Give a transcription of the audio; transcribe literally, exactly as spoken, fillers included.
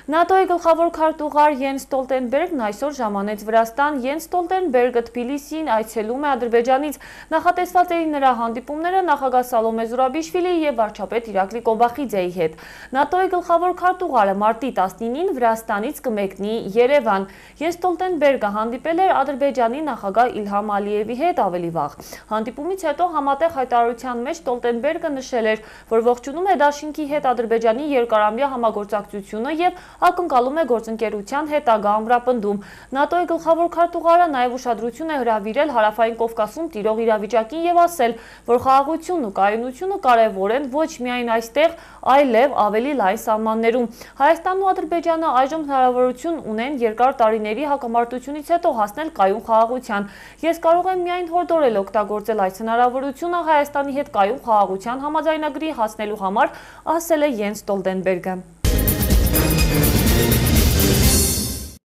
ՆԱՏՕ-ի գլխավոր քարտուղար Յենս Ստոլտենբերգն այսօր ժամանեց Վրաստան։ Յենս Ստոլտենբերգը Թբիլիսին այցելում է Ադրբեջանից։ Նախատեսված էին նրա հանդիպումները նախագահ Սալոմե Զուրաբիշվիլիի եւ վարչապետ Իրակլի Կոբախիձեի հետ։ ՆԱՏՕ-ի գլխավոր քարտուղարը մարտի տասնինին Վրաստանից կմեկնի Երևան։ Յենս Ստոլտենբերգը հանդիպել էր Ադրբեջանի նախագահ Իլհամ Ալիևի հետ ավելի վաղ։ Հանդիպումից հետո համատեղ հայտարարության մեջ Ստոլտենբերգը նշել էր, որ ողջունում է դաշինքի հետ Ադրբեջանի երկարամյա համագործակցությունը եւ ակնկալում է գործընկերության հետագա ամրապնդում։ ՆԱՏՕ-ի գլխավոր քարտուղարը նաև ուշադրություն է հրավիրել Հարավային Կովկասում տիրող իրավիճակին եւ ասել, որ խաղաղությունն ու կայունությունը կարեւոր են ոչ միայն այստեղ, այլև ավելի լայն սահմաններում։ Հայաստանն ու Ադրբեջանը այժմ հնարավորություն ունեն երկար տարիների հակամարտությունից հետո հասնել կայուն խաղաղության։ Ես կարող եմ միայն հորդորել օգտագործել այս հնարավորությունը Հայաստանի հետ կայուն խաղաղության համաձայնագրի հասնելու համար, ասել է Յենս Ստոլտենբերգը։